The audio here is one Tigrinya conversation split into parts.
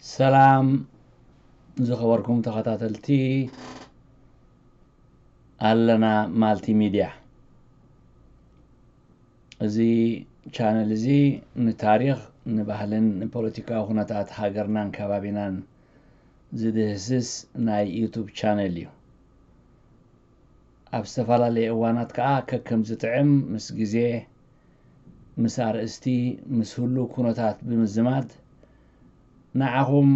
ሰላም ዝኸበርኩም ተኸታተልቲ ኣለና ማልቲ ሚድያ። እዚ ቻነል እዚ ንታሪኽ፣ ንባህልን ንፖለቲካዊ ኩነታት ሃገርናን ከባቢናን ዝድህስስ ናይ ዩቱብ ቻነል እዩ። ኣብ ዝተፈላለየ እዋናት ከኣ ከከም ዝጥዕም ምስ ግዜ፣ ምስ ኣርእስቲ፣ ምስ ህሉው ኩነታት ብምዝማድ ንዓኹም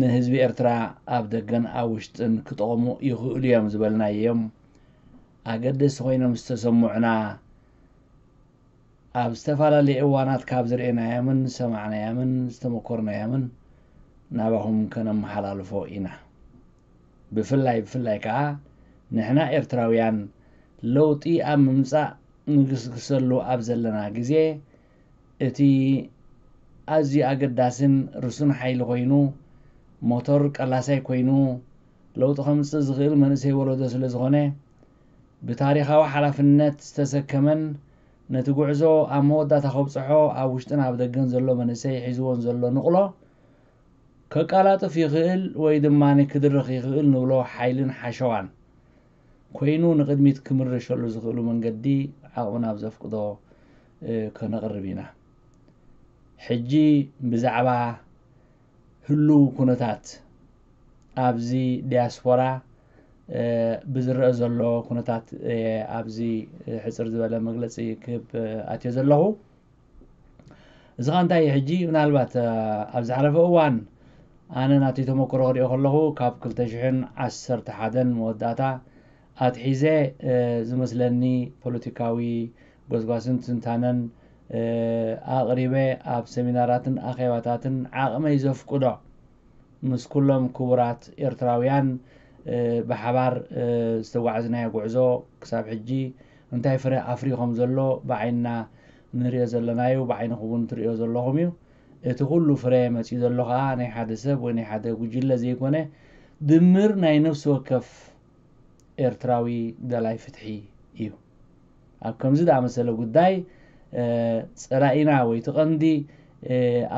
ንህዝቢ ኤርትራ ኣብ ደገን ኣብ ውሽጥን ክጠቕሙ ይኽእሉ እዮም ዝበልናዮም ኣገደስቲ ኮይኖም ዝተሰምዑና ኣብ ዝተፈላለየ እዋናት ካብ ዝርኤናዮምን ዝሰማዕናዮምን ዝተመኮርናዮምን ናባኹም ከነመሓላልፎ ኢና። ብፍላይ ብፍላይ ከኣ ንሕና ኤርትራውያን ለውጢ ኣብ ምምጻእ ንግስግሰሉ ኣብ ዘለና ግዜ እቲ ኣዝዩ ኣገዳስን ርሱን ሓይሊ ኮይኑ ሞቶር ቀላሳይ ኮይኑ ለውጢ ከምጽእ ዝኽእል መንእሰይ ወለዶ ስለ ዝኾነ ብታሪኻዊ ሓላፍነት ዝተሰከመን ነቲ ጉዕዞ ኣብ መወዳእታ ከብጽሖ ኣብ ውሽጥን ኣብ ደገን ዘሎ መንእሰይ ሒዝዎን ዘሎ ንቕሎ ከቃላጥፍ ይኽእል ወይ ድማ ክድርኽ ይኽእል ንብሎ ሓይልን ሓሸዋን ኮይኑ ንቕድሚት ክምርሸሉ ዝኽእሉ መንገዲ ዓቕምና ኣብ ዘፍቅዶ ከነቕርብ ኢና። ሕጂ ብዛዕባ ህሉው ኩነታት ኣብዚ ዲያስፖራ ብዝረአ ዘሎ ኩነታት ኣብዚ ሕፅር ዝበለ መግለፂ ክህብ ኣትዮ ዘለኹ። እዚ ኸዓ እንታይ እዩ? ሕጂ ምናልባት ኣብ ዝሓለፈ እዋን ኣነ ናተይ ተመክሮ ክሪኦ ከለኹ ካብ ክልተ ሽሕን ዓሰርተ ሓደን መወዳእታ ኣትሒዘ ዝመስለኒ ፖለቲካዊ ጎስጓስን ትንታነን ኣቕሪበ ኣብ ሰሚናራትን ኣኼባታትን ዓቕመይ ዘፍቅዶ ምስ ኩሎም ክቡራት ኤርትራውያን ብሓባር ዝተጓዕዝናዮ ጉዕዞ ክሳብ ሕጂ እንታይ ፍረ ኣፍርዩ ከም ዘሎ ብዓይንና ንሪኦ ዘለናዩ፣ ብዓይንኹም እውን ትሪኦ ዘለኹም እዩ። እቲ ኩሉ ፍረ መፂኡ ዘሎ ከዓ ናይ ሓደ ሰብ ወይ ናይ ሓደ ጉጅለ ዘይኮነ ድምር ናይ ነፍሲ ወከፍ ኤርትራዊ ደላይ ፍትሒ እዩ። ኣብ ከምዚ ዝኣመሰለ ጉዳይ ጸላኢና ወይ እቲ ቀንዲ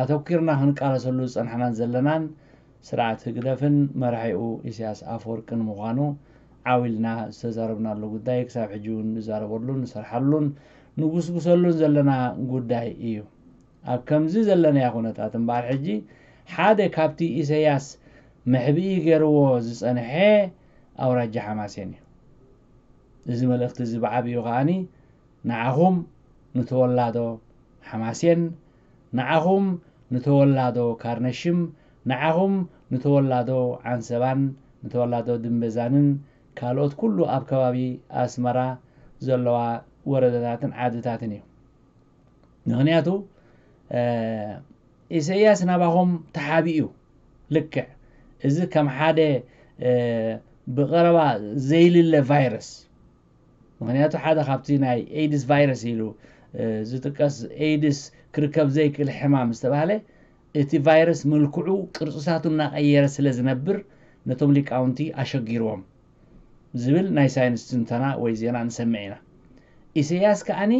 ኣተኲርና ክንቃለሰሉ ዝጸናሕናን ዘለናን ስርዓት ህግደፍን መራሒኡ ኢሳያስ ኣፈወርቅን ምዃኑ ዓው ኢልና ዝተዛረብናሉ ጉዳይ ክሳብ ሕጂ እውን ንዛረበሉን ንሰርሓሉን ንጉስጉሰሉን ዘለና ጉዳይ እዩ። ኣብ ከምዚ ዘለናዮ ኩነታት እምበኣር ሕጂ ሓደ ካብቲ ኢሳያስ መሕብኢ ገይርዎ ዝጸንሐ ኣውራጃ ሓማሴን እዩ። እዚ መልእኽቲ እዚ ብዓብዩ ከኣኒ ንዓኹም ንተወላዶ ሓማሴን፣ ንዓኹም ንተወላዶ ካርነሽም፣ ንዓኹም ንተወላዶ ዓንሰባን ንተወላዶ ድምበዛንን ካልኦት ኩሉ ኣብ ከባቢ ኣስመራ ዘለዋ ወረዳታትን ዓድታትን እዩ። ምኽንያቱ ኢሳያስ ናባኹም ተሓቢኡ ልክዕ እዚ ከም ሓደ ብቐረባ ዘይልለ ቫይረስ። ምኽንያቱ ሓደ ካብቲ ናይ ኤድስ ቫይረስ ኢሉ ዝጥቀስ ኤድስ ክርከብ ዘይክእል ሕማም ዝተባህለ እቲ ቫይረስ ምልክዑ ቅርፅታቱ እናቐየረ ስለ ዝነብር ነቶም ሊቃውንቲ ኣሸጊርዎም ዝብል ናይ ሳይንስ ትንተና ወይ ዜና ንሰምዕ ኢና። ኢሳያስ ከኣኒ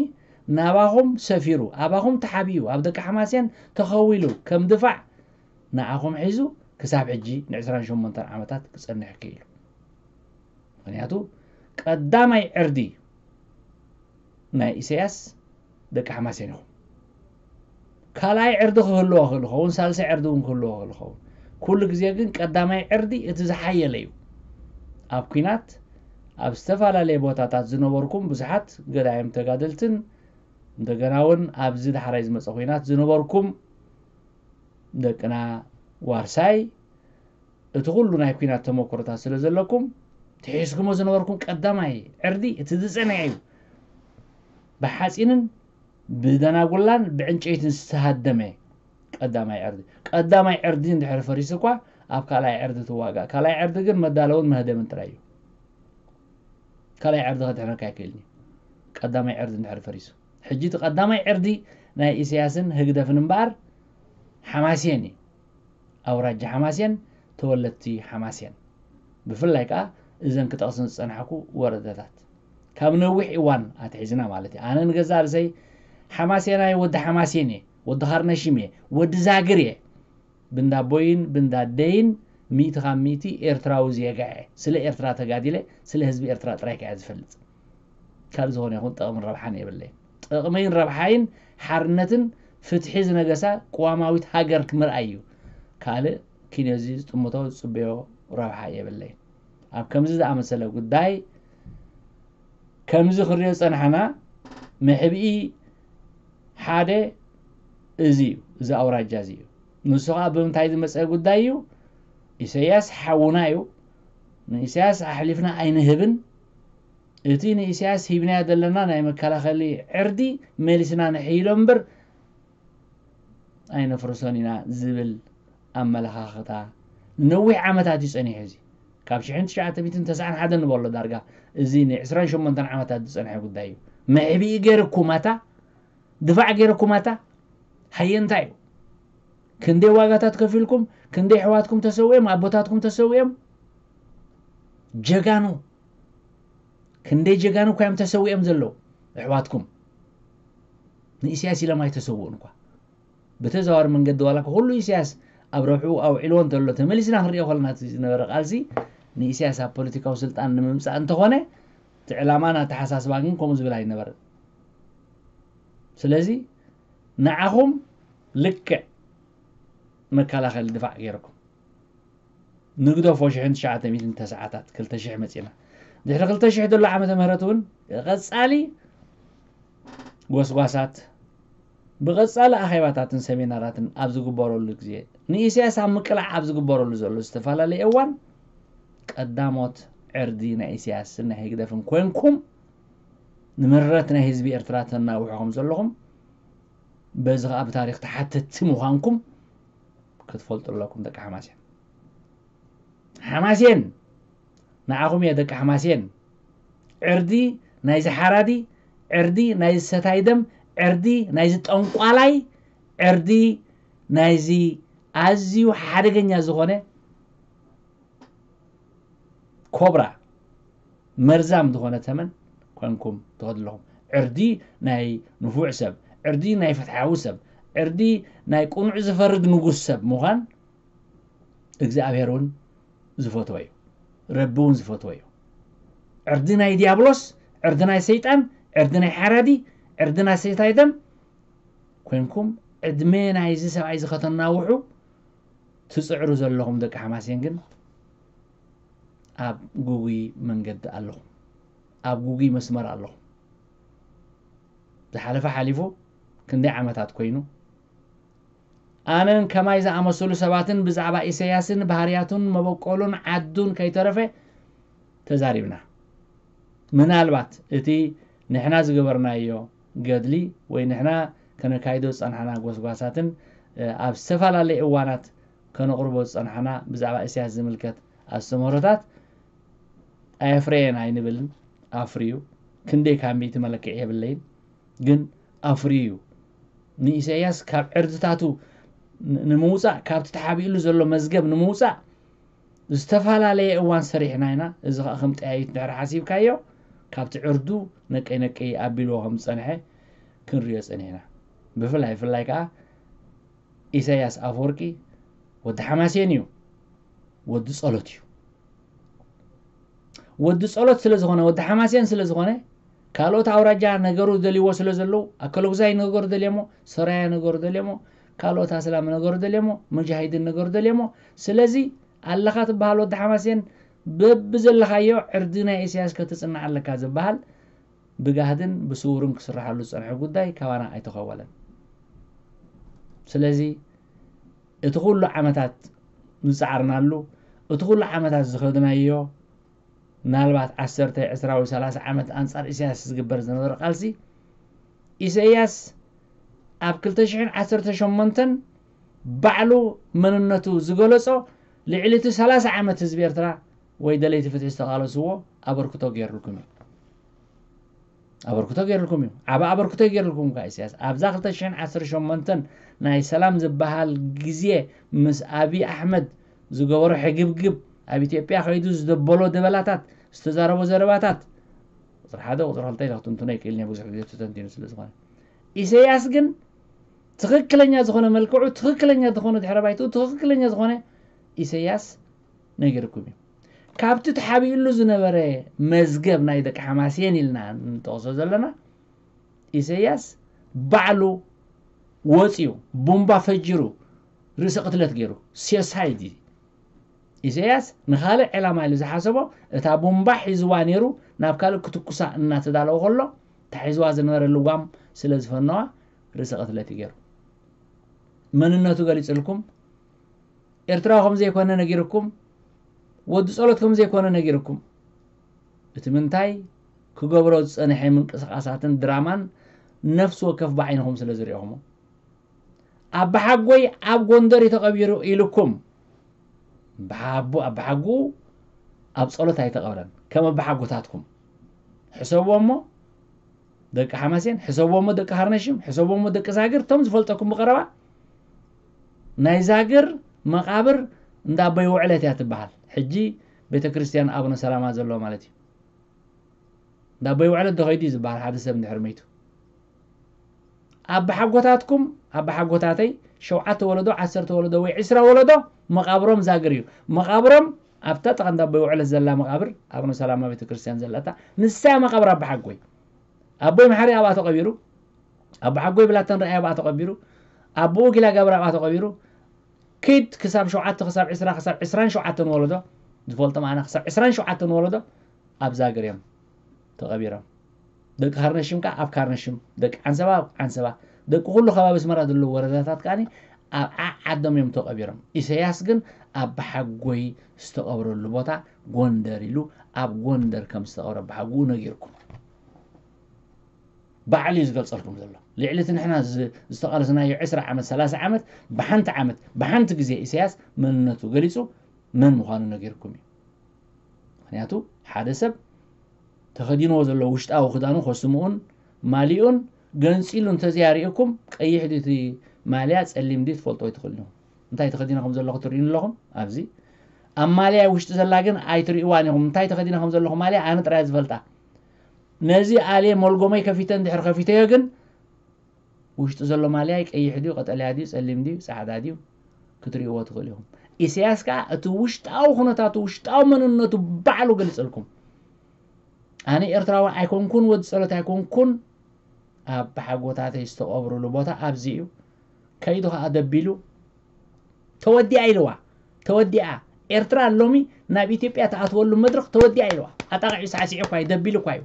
ናባኹም ሰፊሩ ኣባኹም ተሓቢኡ ኣብ ደቂ ሓማሴን ተኸዊሉ ከም ድፋዕ ንዓኹም ሒዙ ክሳብ ሕጂ ን ዕስራን ሸሞንተን ዓመታት ክጸንሕ ክኢሉ። ምኽንያቱ ቀዳማይ ዕርዲ ናይ ኢሳያስ ደቂ ሓማሴን ኢኹም። ካልኣይ ዕርዲ ክህልዎ ክእል ኸውን፣ ሳልሳይ ዕርዲ እውን ክህልዎ ክእል ኸውን። ኩሉ ግዜ ግን ቀዳማይ ዕርዲ እቲ ዝሓየለ እዩ። ኣብ ኲናት ኣብ ዝተፈላለየ ቦታታት ዝነበርኩም ብዙሓት ገዳይም ተጋደልትን እንደገና እውን ኣብዚ ዳሕራይ ዝመፀ ኲናት ዝነበርኩም ደቅና ዋርሳይ እቲ ኩሉ ናይ ኲናት ተመክሮታት ስለ ዘለኩም ትሒዝኩሞ ዝነበርኩም ቀዳማይ ዕርዲ እቲ ዝፀንዐ እዩ። ብሓፂንን ብደናጉላን ብዕንጨይትን ዝተሃደመ ቀዳማይ ዕርዲ። ቀዳማይ ዕርዲ እንድሕር ፈሪሱ እኳ ኣብ ካልኣይ ዕርዲ ትዋጋእ። ካልኣይ ዕርዲ ግን መዳለውን መህደምን ጥራይ እዩ። ካልኣይ ዕርዲ ከድሕነካ ኣይክእልን እዩ። ቀዳማይ ዕርዲ እንድሕር ፈሪሱ። ሕጂ እቲ ቀዳማይ ዕርዲ ናይ ኢሳያስን ህግደፍን እምበኣር ሓማሴን እዩ። ኣውራጃ ሓማሴን፣ ተወለድቲ ሓማሴን። ብፍላይ ከኣ እዘን ክጠቕስን ዝጸናሕኩ ወረዳታት። ካብ ነዊሕ እዋን ኣትሒዝና ማለት እዩ። ኣነ ንገዛእ ርእሰይ ሓማሴናይ ወዲ ሓማሴን እየ፣ ወዲ ካርነሽም እየ፣ ወዲ ዛግር እየ። ብንዳቦይን ብንዳደይን ሚእቲ ካብ ሚእቲ ኤርትራዊ ዜጋ እየ። ስለ ኤርትራ ተጋዲለ፣ ስለ ህዝቢ ኤርትራ ጥራይ ከያ ዝፈልጥ። ካልእ ዝኾነ ይኹን ጥቕምን ረብሓን የብለይን። ጥቕመይን ረብሓይን ሓርነትን ፍትሒ ዝነገሳ ቅዋማዊት ሃገር ክምርኣይ እዩ። ካልእ ኪንዮዚ ዝጥምቶ ዝጽበዮ ረብሓ የብለይን። ኣብ ከምዚ ዝኣመሰለ ጉዳይ ከምዚ ክሪኦ ዝጸናሕና መሕብኢ ሓደ እዚ እዩ፣ እዚ ኣውራጃ እዚ እዩ። ንሱ ኸኣ ብምንታይ ዝመጸ ጉዳይ እዩ? ኢሳያስ ሓውና እዩ። ንኢሳያስ ኣሕሊፍና ኣይንህብን። እቲ ንኢሳያስ ሂብናዮ ዘለና ናይ መከላኸሊ ዕርዲ መሊስና ንሕይሎ እምበር ኣይነፍርሶን ኢና ዝብል ኣመለኻኽታ ነዊሕ ዓመታት እዩ ጸኒሑ። እዚ ካብ ሽሕን ትሽዓተ ሚእትን ተስዓን ሓደን ንበሎ ዳርጋ እዚ ን ዕስራን ሸሞንተን ዓመታት ዝጸንሐ ጉዳይ እዩ። መሕብኢ ገይርኩማታ፣ ድፋዕ ገይርኩማታ፣ ሃየንታ እዩ። ክንደይ ዋጋታት ከፊልኩም፣ ክንደይ ኣሕዋትኩም ተሰዊኦም፣ ኣቦታትኩም ተሰዊኦም፣ ጀጋኑ፣ ክንደይ ጀጋኑ እኳ እዮም ተሰዊኦም ዘለዉ ኣሕዋትኩም። ንኢሳያስ ኢሎም ኣይተሰውኡን እኳ። ብተዘዋዋሪ መንገዲ ዋላ እኳ ኩሉ ኢሳያስ ኣብ ረብሕኡ ኣውዒልዎ እንተሎ፣ ተመሊስና ክንሪኦ ከለና እቲ ዝነበረ ቃልሲ ንኢሳያስ ኣብ ፖለቲካዊ ስልጣን ንምምጻእ እንተኾነ፣ እቲ ዕላማን ኣተሓሳስባን ግን ከምኡ ዝብል ኣይነበረን። ስለዚ ንዓኹም ልክዕ መከላኸሊ ድፋዕ ገይርኩም ንግደፎ። ሽሕን ትሽዓተ ሚእትን ተስዓታት፣ ክልተ ሽሕ መጺና። ድሕሪ ክልተ ሽሕ ዘሎ ዓመተ ምህረት እውን ቀጻሊ ጎስጓሳት፣ ብቐጻሊ ኣኼባታትን ሰሚናራትን ኣብ ዝግበረሉ ግዜ፣ ንኢሳያስ ኣብ ምቅላዕ ኣብ ዝግበረሉ ዘሎ ዝተፈላለየ እዋን፣ ቀዳሞት ዕርዲ ናይ ኢሳያስን ናይ ህግደፍን ኮንኩም፣ ንምረት ናይ ህዝቢ ኤርትራ ተናውሑ ከም ዘለኹም፣ በዚ ኸኣ ብታሪኽ ተሓተትቲ ምዃንኩም ክትፈልጡ ኣለኩም፣ ደቂ ሓማሴን። ሓማሴን፣ ንዓኹም እየ፣ ደቂ ሓማሴን። ዕርዲ ናይዚ ሓራዲ፣ ዕርዲ ናይዚ ሰታይ ደም፣ ዕርዲ ናይዚ ጠንቋላይ፣ ዕርዲ ናይዚ ኣዝዩ ሓደገኛ ዝኾነ ኮብራ፣ መርዛም ዝኾነ ተመን ኮንኩም ትኸዱ ኣለኹም። ዕርዲ ናይ ንፉዕ ሰብ፣ ዕርዲ ናይ ፍትሓዊ ሰብ፣ ዕርዲ ናይ ቅኑዕ ዝፈርድ ንጉስ ሰብ ምዃን እግዚኣብሔር እውን ዝፈትዎ እዩ። ረቢ እውን ዝፈትዎ እዩ። ዕርዲ ናይ ዲያብሎስ፣ ዕርዲ ናይ ሰይጣን፣ ዕርዲ ናይ ሓራዲ፣ ዕርዲ ናይ ሰይታይ ደም ኮንኩም ዕድመ ናይዚ ሰብኣይ እዚ ከተናውሑ ትጽዕሩ ዘለኹም ደቂ ሓማሴን ግን ኣብ ጉጉይ መንገዲ ኣለኹም። ኣብ ጉጉይ መስመር ኣለኹም። ዝሓለፈ ሓሊፉ ክንደይ ዓመታት ኮይኑ፣ ኣነን ከማይ ዝኣመሰሉ ሰባትን ብዛዕባ ኢሳያስን ባህርያቱን መበቆሉን ዓዱን ከይተረፈ ተዛሪብና። ምናልባት እቲ ንሕና ዝገበርናዮ ገድሊ ወይ ንሕና ከነካይዶ ዝጸናሕና ጎስጓሳትን፣ እ፣ ኣብ ዝተፈላለየ እዋናት ከነቕርቦ ዝጸናሕና ብዛዕባ ኢሳያስ ዝምልከት ኣስተምህሮታት ኣየፍረየን ኣይንብልን። ኣፍርዩ። ክንደይ ካብ ሚእቲ መለክዒ የብለይን። ግን ኣፍርዩ እዩ። ንኢሳያስ ካብ ዕርድታቱ ን-፣ ንምውጻእ፣ ካብቲ ተሓቢእሉ ዘሎ መዝገብ ንምውጻእ ዝተፈላለየ እዋን ሰሪሕና ኢና። እዚ ኸኣ ከም ጠያይት ድሕሪ ሓሲብካዮ፣ ካብቲ ዕርዱ ነቀይ ነቀይ ኣቢልዎ ከም ዝጸንሐ ክንሪኦ ጸኒሕና። ብፍላይ፣ ብፍላይ ከኣ ኢሳያስ ኣፈወርቂ ወዲ ሓማሴን እዩ። ወዲ ጸሎት እዩ። ወዲ ጸሎት ስለ ዝኾነ፣ ወዲ ሓማሴን ስለ ዝኾነ፣ ካልኦት ኣውራጃ ነገሩ ደልይዎ ስለ ዘለዉ፣ ኣከለጉዛይ ነገሩ ደልዮሞ፣ ሰራያ ነገሩ ደልዮሞ፣ ካልኦት ኣስላም ነገሩ ደልዮሞ፣ መጃሂድን ነገሩ ደልዮሞ። ስለዚ ኣለኻ ትበሃል ወዲ ሓማሴን፣ በብዘለኻዮ ዕርዲ ናይ ኢሳያስ ከተጽንዕ ኣለካ ዝበሃል ብጋህድን ብስውርን ክስርሓሉ ዝጸንሐ ጉዳይ ካባና ኣይተኸወለን። ስለዚ እቲ ኩሉ ዓመታት ዝጸዓርናሉ፣ እቲ ኩሉ ዓመታት ዝኸድናዮ፣ ምናልባት ዓሰርተ፣ ዕስራ ወይ ሰላሳ ዓመት ኣንጻር ኢሳያስ ዝግበር ዝነበረ ቃልሲ፣ ኢሳያስ ኣብ ክልተ ሽሕን ዓሰርተ ሸሞንተን ባዕሉ መንነቱ ዝገለጾ፣ ልዕሊ እቲ ሰላሳ ዓመት ህዝቢ ኤርትራ ወይ ደለይቲ ፍትሒ ዝተቓለስዎ ኣበርክቶ ገይሩልኩም እዩ። ኣበርክቶ ገይሩልኩም እዩ። ዓቢ ኣበርክቶ ገይሩልኩም እኳ ኢሳያስ። ኣብዛ ክልተ ሽሕን ዓሰርተ ሸሞንተን ናይ ሰላም ዝበሃል ግዜ ምስ ኣቢ ኣሕመድ ዝገበሮ ሕግብግብ፣ ኣብ ኢትዮጵያ ከይዱ ዝደበሎ ደበላታት፣ ዝተዛረቦ ዘረባታት፣ ቁጽሪ ሓደ፣ ቁጽሪ ክልተ ኢለ ክትንትኖ ኣይክእልን እየ፣ ብዙሕ ግዜ ተተንቲኑ ስለ ዝኾነ። ኢሳያስ ግን ትኽክለኛ ዝኾነ መልክዑ፣ ትኽክለኛ ዝኾነ ድሕረ ባይትኡ፣ ትኽክለኛ ዝኾነ ኢሰያስ ነጊርኩም እዩ። ካብቲ ተሓቢእሉ ዝነበረ መዝገብ ናይ ደቂ ሓማሴን ኢልና እንጠቕሶ ዘለና፣ ኢሰያስ ባዕሉ ወፂኡ ቡምባ ፈጂሩ ርእሰ ቅትለት ገይሩ፣ ሴሳይድ እዩ። ኢሰያስ ንኻልእ ዕላማ ኢሉ ዝሓሰቦ፣ እታ ቡምባ ሒዝዋ ነይሩ ናብ ካልእ ክትኩሳ እናተዳለወ ከሎ፣ እታ ሒዝዋ ዝነበረ ልጓም ስለ ዝፈነዋ ርእሰ ቅትለት እዩ ገይሩ። መንነቱ ገሊፅልኩም፣ ኤርትራዊ ከም ዘይኮነ ነጊርኩም፣ ወዲ ጸሎት ከም ዘይኮነ ነጊርኩም፣ እቲ ምንታይ ክገብሮ ዝጸንሐ ምንቅስቓሳትን ድራማን ነፍሲ ወከፍ ብዓይንኹም ስለ ዝሪኦኹሞ። ኣባሓጎይ ኣብ ጎንደር እዩ ተቐቢሩ ኢልኩም፣ ኣባሓቡ-፣ ኣባሓጉ ኣብ ጸሎት ኣይተቐብረን። ከም ኣባሓጎታትኩም ሕሰብዎ እሞ፣ ደቂ ሓማሴን ሕሰብዎ እሞ፣ ደቂ ሃርነሽም ሕሰብዎ እሞ፣ ደቂ ዛግር፣ እቶም ዝፈልጠኩም ብቐረባ፣ ናይ ዛግር መቓብር እንዳ ኣቦይ ውዕለት እያ ትበሃል። ሕጂ ቤተ ክርስቲያን ኣቡነ ሰላማ ዘለዎ ማለት እዩ። እንዳ ኣቦይ ውዕለት ዶ ኸይዱ እዩ ዝበሃል ሓደ ሰብ እንድሕር መይቱ? ኣባሓጎታትኩም፣ ኣባሓጎታተይ ሸውዓተ ወለዶ፣ ዓሰርተ ወለዶ ወይ ዕስራ ወለዶ መቓብሮም ዛግር እዩ። መቓብሮም ኣብታ ጥቓ እንዳ ኣቦይ ውዕለት ዘላ መቓብር፣ ኣቡነ ሰላማ ቤተ ክርስቲያን ዘለታ፣ ንሳ እያ መቓብር ኣባሓጎይ። ኣቦይ መሓሪ ኣብኣ ተቐቢሩ፣ ኣባሓጎይ ብላተን ርኣይ ኣብኣ ተቐቢሩ፣ ኣቦኡ ጊላ ጋብር ኣብኣ ተቐቢሩ። ኪድ ክሳብ ሸውዓተ፣ ክሳብ ዕስራ፣ ክሳብ ዕስራን ሸውዓተን ወለዶ፣ ዝፈልጦም ኣነ ክሳብ ዕስራን ሸውዓተን ወለዶ ኣብ ዛግር እዮም ተቐቢሮም። ደቂ ካርነሽም ከኣ ኣብ ካርነሽም፣ ደቂ ዓንሰባ ኣብ ዓንሰባ፣ ደቂ ኩሉ ከባቢ ኣስመራ ዘለዉ ወረዳታት ከኣ ኣብ ዓ-፣ ዓዶም እዮም ተቐቢሮም። ኢሰያስ ግን ኣባሓጎይ ዝተቐብረሉ ቦታ ጎንደር ኢሉ ኣብ ጎንደር ከም ዝተቐብረ ኣባሓጉኡ ነጊርኩም። ባዕሉ እዩ ዝገልጸልኩም ዘሎ። ልዕሊ እቲ ንሕና ዝ-፣ ዝተቓለስናዮ ዕስራ ዓመት፣ ሰላሳ ዓመት፣ ብሓንቲ ዓመት፣ ብሓንቲ ግዜ ኢሰያስ መንነቱ ገሊጹ መን ምዃኑ ነጊርኩም እዩ። ምኽንያቱ ሓደ ሰብ ተኸዲንዎ ዘሎ ውሽጣዊ ክዳኑ ከስምኡን ማሊኡን ገንጺሉ እንተዘያርእየኩም፣ ቀይሕ ድዩ እቲ ማልያ፣ ጸሊም ድዩ ትፈልጡ ኣይትኽእሉን ኢኹም። እንታይ ተኸዲነ ከም ዘለኹ ትርእዩኒ ኣለኹም? ኣብዚ ኣብ ማልያ ውሽጢ ዘላ ግን ኣይትርእይዋን ኢኹም። እንታይ ተኸዲነ ከም ዘለኹ ማልያ ኣነ ጥራይ ዝፈልጣ። ነዚ ኣልየ ሞልጎመይ ከፊተ እንድሕር ከፊተዮ ግን፣ ውሽጢ ዘሎ ማልያይ ቀይሕ ድዩ፣ ቀጠልያ ድዩ፣ ጸሊም ድዩ፣ ጻዕዳ ድዩ፣ ክትርእይዎ ትኽእሉ ኢኹም። ኢሳያስ ከኣ እቲ ውሽጣዊ ኩነታቱ፣ ውሽጣዊ መንነቱ ባዕሉ ገሊጸልኩም። ኣነ ኤርትራዊ ኣይኮንኩን፣ ወዲ ጸሎት ኣይኮንኩን፣ ኣባሓጎታተይ ዝተቐብሩሉ ቦታ ኣብዚ እዩ። ከይዱ ከኣ ደቢሉ፣ "ተወዲኣ" ኢልዋ። ተወዲኣ። ኤርትራ ሎሚ ናብ ኢትዮጵያ ትኣትወሉ መድረኽ ተወዲኣ ኢልዋ። ኣጣቒዑ ሳዕሲዑ እኳ እዩ፣ ደቢሉ እኳ እዩ።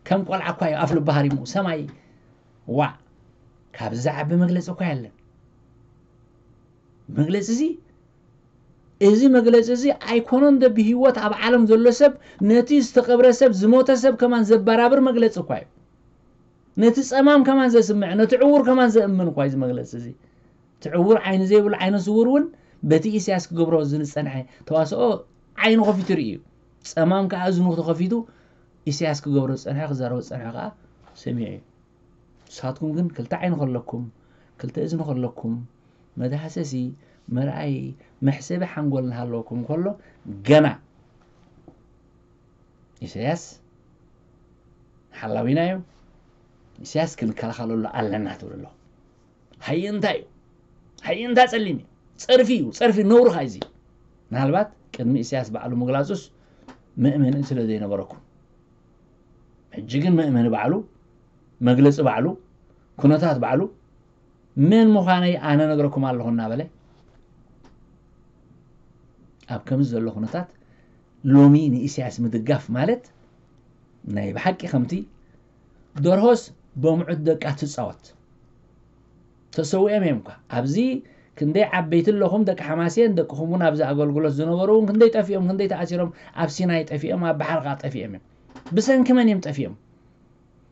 ከም ቆልዓ እኳ እዩ ኣፍ ልቡ ሃሪሙ። ሰማይ፣ ዋእ! ካብዚ ዝዓቢ መግለጺ እኳ የለን። መግለጺ እዚ፣ እዚ መግለጺ እዚ ኣይኮነን ዶ ብህይወት ኣብ ዓለም ዘሎ ሰብ፣ ነቲ ዝተቐብረ ሰብ፣ ዝሞተ ሰብ ከማን ዘበራብር መግለጺ እኳ እዩ። ነቲ ጸማም ከማን ዘስምዕ፣ ነቲ ዕዉር ከማን ዘእምን እኳ እዩ እዚ መግለጺ እዚ። እቲ ዕዉር ዓይኒ ዘይብሉ ዓይነ ስዉር እውን በቲ ኢሳያስ ክገብሮ ዝጸንሐ ተዋስኦ ዓይኑ ከፊቱ ይርኢ እዩ። ጸማም ከኣ እዝኑ ተኸፊቱ ኢሳያስ ክገብሮ ዝጸንሐ፣ ክዛረቦ ዝጸንሐ ከኣ ሰሚዑ እዩ። ንስኻትኩም ግን ክልተ ዓይኒ ከለኩም፣ ክልተ እዝኒ ከለኩም፣ መዳህሰሲ፣ መርኣዪ፣ መሕሰቢ ሓንጎል እናሃለወኩም ከሎ፣ ገና ኢሳያስ ሓላዊና እዩ፣ ኢሳያስ ክንከላኸለሉ ኣለና ትብሉ ኣለኹም። ሃየ እንታይ እዩ? ሃየ እንታይ ጸሊም እዩ? ጸርፊ እዩ፣ ጸርፊ ነውሪ ኸኣ እዚ። ምናልባት ቅድሚ ኢሳያስ ባዕሉ ምግላጹስ መእመኒ ስለ ዘይነበረኩም። ሕጂ ግን መእመኒ ባዕሉ፣ መግለጺ ባዕሉ፣ ኩነታት ባዕሉ፣ መን ምዃነይ ኣነ ነግረኩም ኣለኹ እናበለ፣ ኣብ ከምዚ ዘሎ ኩነታት ሎሚ ንኢሳያስ ምድጋፍ ማለት ናይ ብሓቂ ከምቲ ደርሆስ በምዑት ደቃ ትጻወት። ተሰዊኦም እዮም እኳ። ኣብዚ ክንደይ ዓበይቲ ኣለኹም፣ ደቂ ሓማሴን፣ ደቅኹም እውን ኣብዚ ኣገልግሎት ዝነበሩ እውን ክንደይ ጠፊኦም፣ ክንደይ ተኣሲሮም፣ ኣብ ሲናይ ጠፊኦም፣ ኣብ ባሕሪ ከኣ ጠፊኦም እዮም። ብሰንኪ መን እዮም ጠፊኦም?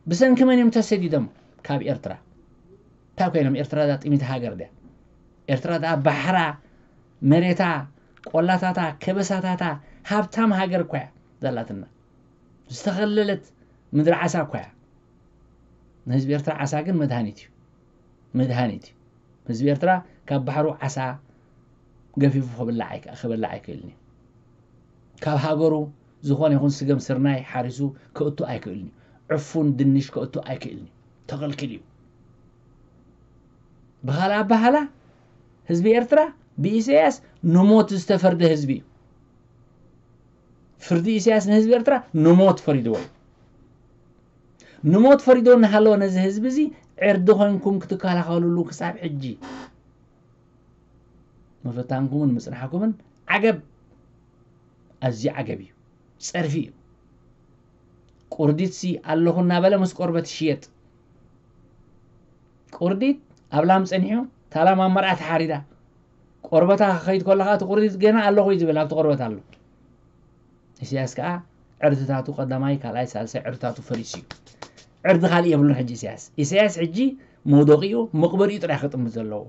ብሰንኪ መን እዮም ተሰዲዶም ካብ ኤርትራ? እንታይ ኮይኖም? ኤርትራ እዛ ጥሚት ሃገር ድያ? ኤርትራ ደኣ ባሕራ፣ መሬታ፣ ቆላታታ፣ ከበሳታታ፣ ሃብታም ሃገር እኳ እያ ዘላትና። ዝተኸለለት ምድሪ ዓሳ እኳ እያ። ንህዝቢ ኤርትራ ዓሳ ግን መድሃኒት እዩ። መድሃኒት እዩ። ህዝቢ ኤርትራ ካብ ባሕሩ ዓሳ ገፊፉ ክብላዕ ኣይከ-፣ ክበልዕ ኣይክእልን እዩ። ካብ ሃገሩ ዝኾነ ይኹን ስገም ስርናይ ሓሪሱ ከእቱ ኣይክእልን እዩ። ዕፉን ድንሽ ከእቱ ኣይክእልን እዩ። ተኸልኪሉ እዩ። ብኻልእ ኣባህላ ህዝቢ ኤርትራ ብኢሳያስ ንሞት ዝተፈርደ ህዝቢ እዩ። ፍርዲ ኢሳያስ ንህዝቢ ኤርትራ ንሞት ፈሪድዎ እዩ። ንሞት ፈሪዶ እናሃለወ ነዚ ህዝቢ እዚ ዕርዲ ኮይንኩም ክትከላኸሉሉ ክሳብ ሕጂ ምፍታንኩምን ምጽናሕኩምን ዓገብ፣ ኣዝዩ ዓገብ እዩ። ጸርፊ እዩ። ቁርዲትሲ ኣለኹ እናበለ ምስ ቆርበት ይሽየጥ። ቁርዲት ኣብ ላም ጸኒሑ፣ እታ ላም ኣብ መርዓ ተሓሪዳ። ቆርበታ ክኸይድ ከሎ ከኣ እቲ ቁርዲት ገና ኣለኹ እዩ ዝብል፣ ኣብቲ ቆርበት ኣሎ። ኢሳያስ ከኣ ዕርድታቱ ቀዳማይ፣ ካልኣይ፣ ሳልሳይ ዕርድታቱ ፈሪሱ እዩ። ዕርዲ ካልእ የብሉን ሕጂ ኢሳያስ። ኢሳያስ ሕጂ መውደቂኡ መቕበሪኡ ጥራይ ክጥምት ዘለዎ።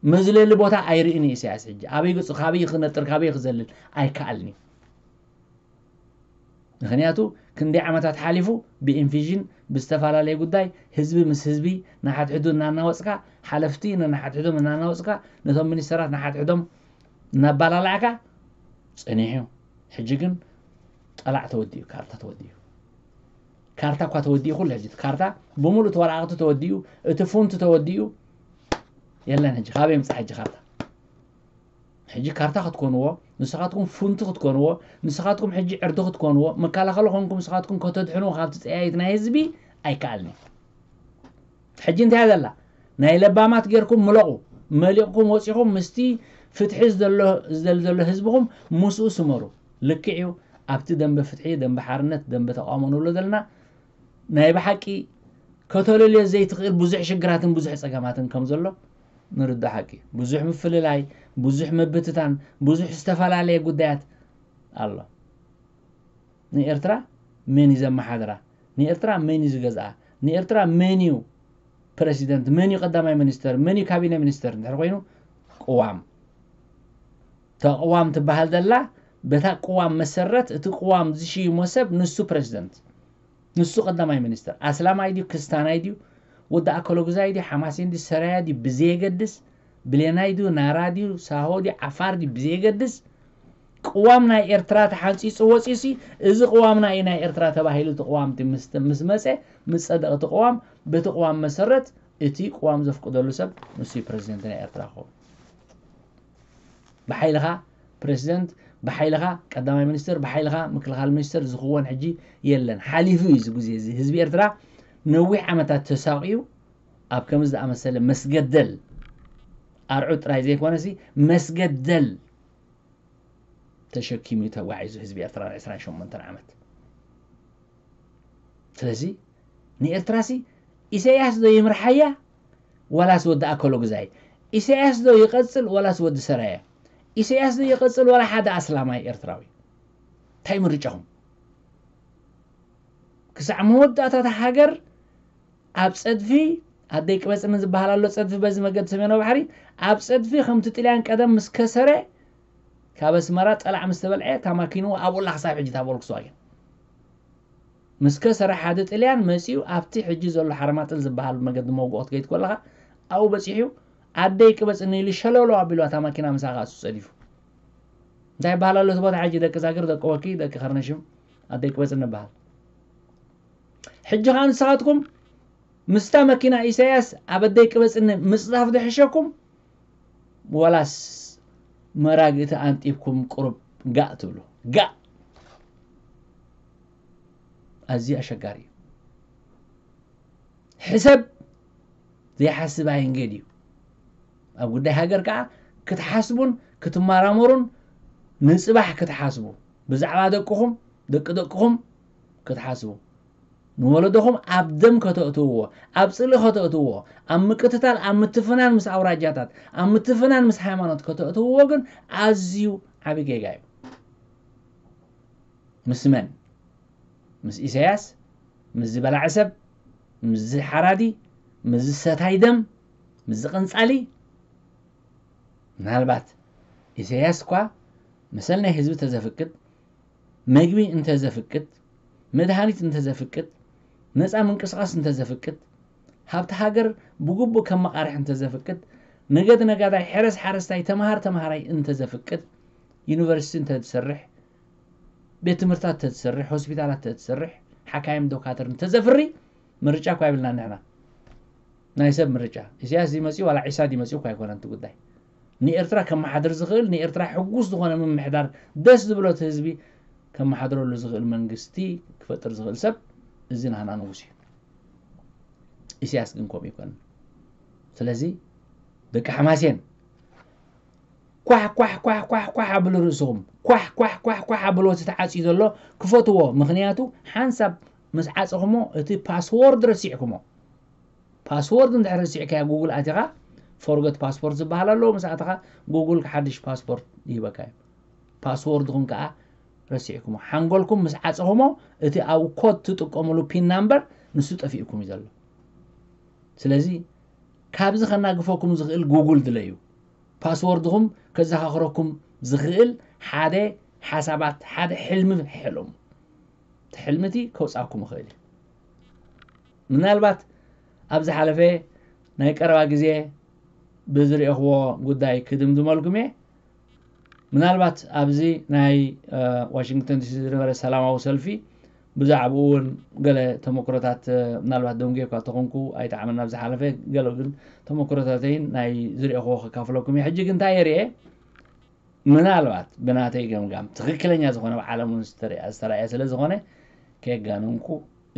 መዝለሊ ቦታ ኣይርእን እዩ ኢሳያስ ሕጂ። ኣበይ ገጹ፣ ካበይ ክነጥር፣ ካበይ ክዘልል ኣይከኣልን እዩ። ምኽንያቱ ክንደይ ዓመታት ሓሊፉ ብኢንፊዥን ብዝተፈላለየ ጉዳይ ህዝቢ ምስ ህዝቢ ንሓድሕዱ እናናወጽካ፣ ሓለፍቲ ንሓድሕዶም እናናወጽካ፣ ነቶም ሚኒስተራት ንሓድሕዶም እናባላላዕካ ጸኒሑ እዩ። ሕጂ ግን ጠላዕ ተወዲኡ፣ ካርታ ተወዲኡ። ካርታ እኳ ተወዲኡ፣ ኩሉ ሕጂ እቲ ካርታ ብምሉእ እቲ ወረቓቕቲ ተወዲኡ፣ እቲ ፉንት ተወዲኡ፣ የለን ሕጂ። ካበይ ይምጻእ ሕጂ ካርታ? ሕጂ ካርታ ክትኮንዎ፣ ንስኻትኩም ፉንቲ ክትኮንዎ፣ ንስኻትኩም ሕጂ ዕርዲ ክትኮንዎ፣ መከላኸሊ ኮንኩም ንስኻትኩም ከተድሕንዎ ካብቲ ጸያይት ናይ ህዝቢ ኣይከኣልን እዩ። ሕጂ እንታይ እያ ዘላ? ናይ ለባማት ጌርኩም ምለቑ። መሊቕኩም ወጺኹም ምስቲ ፍትሒ ዝደሎ፣ ዝደሊ ዘሎ ህዝብኹም ምስኡ ስመሩ። ልክዕ እዩ፣ ኣብቲ ደንበ ፍትሒ፣ ደንበ ሓርነት፣ ደንበ ተቃውሞ ንብሎ ዘለና ናይ ብሓቂ ከተለልዮ ዘይትኽእል ብዙሕ ሽግራትን ብዙሕ ጸገማትን ከም ዘሎ ንርዳእ ሓቂ። ብዙሕ ምፍልላይ፣ ብዙሕ ምብትታን፣ ብዙሕ ዝተፈላለየ ጉዳያት ኣሎ። ንኤርትራ መን እዩ ዘመሓድራ? ንኤርትራ መን እዩ ዝገዝኣ? ንኤርትራ መን እዩ ፕረሲደንት? መን እዩ ቀዳማይ ሚኒስተር? መን እዩ ካቢነ ሚኒስተር? እንድሕር ኮይኑ ቅዋም። እታ ቅዋም ትበሃል ዘላ፣ በታ ቅዋም መሰረት እቲ ቅዋም ዝሽይሞ ሰብ ንሱ ፕረሲደንት። ንሱ ቀዳማይ ሚኒስተር። ኣስላማይ ድዩ፣ ክስታናይ ድዩ፣ ወዲ ኣከለጉዛይ ድዩ፣ ሓማሴን ድዩ፣ ሰራያ ድዩ፣ ብዘየገድስ፣ ብሌናይ ድዩ፣ ናራ ድዩ፣ ሳሆ ድዩ፣ ዓፋር ድዩ፣ ብዘየገድስ፣ ቅዋም ናይ ኤርትራ ተሓንጺጹ ወጺኡሲ፣ እዚ ቅዋምና እዩ ናይ ኤርትራ ተባሂሉ እቲ ቅዋም እቲ ምስ፣ ምስ መጸ፣ ምስ ጸደቐ እቲ ቅዋም፣ በቲ ቅዋም መሰረት እቲ ቅዋም ዘፍቅደሉ ሰብ ንሱ እዩ ፕረዚደንት ናይ ኤርትራ ክኸውን። ብሓይልኻ ፕረዚደንት፣ ብሓይልኻ ቀዳማይ ሚኒስትር፣ ብሓይልኻ ምክልኻል ሚኒስትር ዝኽወን ሕጂ የለን። ሓሊፉ እዩ እዚ ግዜ እዚ። ህዝቢ ኤርትራ ነዊሕ ዓመታት ተሳቕዩ ኣብ ከምዚ ዝኣመሰለ መስገደል ኣርዑት ጥራይ ዘይኮነሲ መስገደል ተሸኪሙ እዩ ተጓዒዙ ህዝቢ ኤርትራ ን ዕስራን ሸሞንተን ዓመት። ስለዚ ንኤርትራሲ ኢሳያስ ዶ ይምርሓያ ዋላስ ወዲ ኣከሎ ግዛይ? ኢሳያስ ዶ ይቐጽል ዋላስ ወዲ ሰራየ? ኢሳያስ ዶ ይቐጽል ዋላ ሓደ ኣስላማይ ኤርትራዊ? እንታይ ምርጫኹም? ክሳዕ መወዳእታ እታ ሃገር ኣብ ጸድፊ፣ ኣደይ ቅበጽኒ ዝበሃል ኣሎ ጸድፊ በዚ መገዲ ሰሜናዊ ባሕሪ፣ ኣብ ጸድፊ ከምቲ ጥልያን ቀደም ምስ ከሰረ ካብ ኣስመራ ጠላዕ ምስ ተበልዐ፣ እታ ማኪንኡ ኣብኡ ኣላ ክሳብ ሕጂ እታ ቮልክስዋገን። ምስ ከሰረ ሓደ ጥልያን መጺኡ ኣብቲ ሕጂ ዘሎ ሓረማጥል ዝበሃል መገዲ መውግኦ ክትከይድ ከለኻ ኣብኡ በጺሑ፣ ኣደይ ቅበጽኒ ኢሉ ሸለሎ ኣቢሉ እታ ማኪና ምሳኻ እሱ ጸዲፉ። እንታይ ይበሃል ኣሎ እቲ ቦታ ሕጂ? ደቂ ዛግር፣ ደቂ ወኪ፣ ደቂ ከርነሽም፣ ኣደይ ቅበጽኒ ይበሃል። ሕጂ ኸኣ ንስኻትኩም ምስታ መኪና ኢሳያስ ኣብ ኣደይ ቅበጽኒ ምጽዳፍ ዝሕሸኩም፣ ዋላስ መራግእቲ ኣንጢብኩም ቁሩብ ጋእ ትብሉ? ጋእ። ኣዝዩ ኣሸጋሪ እዩ። ሕሰብ ዘይሓስብ ኣይንገድ እዩ። ኣብ ጉዳይ ሃገር ከኣ ክትሓስቡን ክትመራመሩን ንጽባሕ ክትሓስቡ፣ ብዛዕባ ደቅኹም፣ ደቂ ደቅኹም ክትሓስቡ፣ ንወለዶኹም ኣብ ደም ከተእትውዎ፣ ኣብ ጽልኢ ከተእትውዎ፣ ኣብ ምቅትታል፣ ኣብ ምትፍናን ምስ ኣውራጃታት፣ ኣብ ምትፍናን ምስ ሃይማኖት ከተእትውዎ ግን ኣዝዩ ዓቢ ጌጋ እዩ። ምስ መን? ምስ ኢሳያስ? ምስ ዝበላዐ ሰብ? ምስ ሓራዲ? ምስ ሰታይ ደም? ምስ ዝቕንጻሊ? ምናልባት ኢሳያስ እኳ መሰል ናይ ህዝቢ ተዘፍቅድ፣ መግቢ እንተዘፍቅድ፣ መድሃኒት እንተዘፍቅድ፣ ነጻ ምንቅስቓስ እንተዘፍቅድ፣ ሃብቲ ሃገር ብግቡእ ከመቓርሕ እንተዘፍቅድ፣ ነገድ ነጋዳይ፣ ሕረስ ሓረስታይ፣ ተምሃር ተምሃራይ እንተዘፍቅድ፣ ዩኒቨርሲቲ እንተዝሰርሕ፣ ቤት ትምህርታት እንተዝሰርሕ፣ ሆስፒታላት እንተዝሰርሕ፣ ሓካይም ዶካትር እንተዘፍሪ፣ ምርጫ እኳ የብልና ንሕና። ናይ ሰብ ምርጫ። ኢሳያስ ዝመፅኡ ዋላ ዒሳ ዝመፅኡ እኳ ኣይኮነን እቲ ጉዳይ። ንኤርትራ ከመሓድር ዝኽእል፣ ንኤርትራ ሕጉስ ዝኾነ ምምሕዳር፣ ደስ ዝብሎ እቲ ህዝቢ ከመሓድረሉ ዝኽእል መንግስቲ ክፈጥር ዝኽእል ሰብ እዚ ናህና ንጉስ እዩ። ኢሳያስ ግን ከምኡ ይኮነን። ስለዚ ደቂ ሓማሴን ኳሕ ኳሕ ኳሕ ኳሕ ኳሕ ኣብሉ ርእስኹም። ኳሕ ኳሕ ኳሕ ኳሕ ኣብሉ እቲ ተዓፅዩ ዘሎ ክፈትዎ። ምኽንያቱ ሓንሳብ ምስ ዓፀኹሞ እቲ ፓስዎርድ ረሲዕኩሞ። ፓስዎርድ እንድሕር ረሲዕካያ ጉግል ኣቲኻ ፎርገት ፓስፖርት ዝበሃል ኣለዎ። ምስ ኣተኻ ጉግል ሓድሽ ፓስፖርት ይህበካ እዩ። ፓስዎርድኹም ከዓ ረሲዕኩሞ። ሓንጎልኩም ምስ ዓፀኹሞ እቲ ኣብኡ ኮድ ትጥቀምሉ ፒን ናምበር ንሱ ጠፊእኩም እዩ ዘሎ። ስለዚ ካብዚ ከናግፈኩም ዝኽእል ጉግል ድለዩ። ፓስወርድኹም ከዘኻኽረኩም ዝኽእል ሓደ ሓሳባት፣ ሓደ ሕልሚ ሕለሙ። እቲ ሕልሚ እቲ ከውፃኩም ይኽእል እዩ። ምናልባት ኣብ ዝሓለፈ ናይ ቀረባ ግዜ ብዝረእኽዎ ጉዳይ ክድምድመልኩም እየ። ምናልባት ኣብዚ ናይ ዋሽንግተን ዲሲ ዝነበረ ሰላማዊ ሰልፊ ብዛዕባኡ እውን ገለ ተመክሮታት ምናልባት ደንጉየኳ ተኾንኩ ኣይጠዓመና ኣብ ዝሓለፈ ገለ ግን ተመክሮታተይን ናይ ዝረእኽዎ ከካፍለኩም እየ። ሕጂ ግን እንታይ የርእየ? ምናልባት ብናተይ ገምጋም ትኽክለኛ ዝኾነ ኣብ ዓለም እውን ዝተረኣየ ስለ ዝኾነ ከየጋነንኩ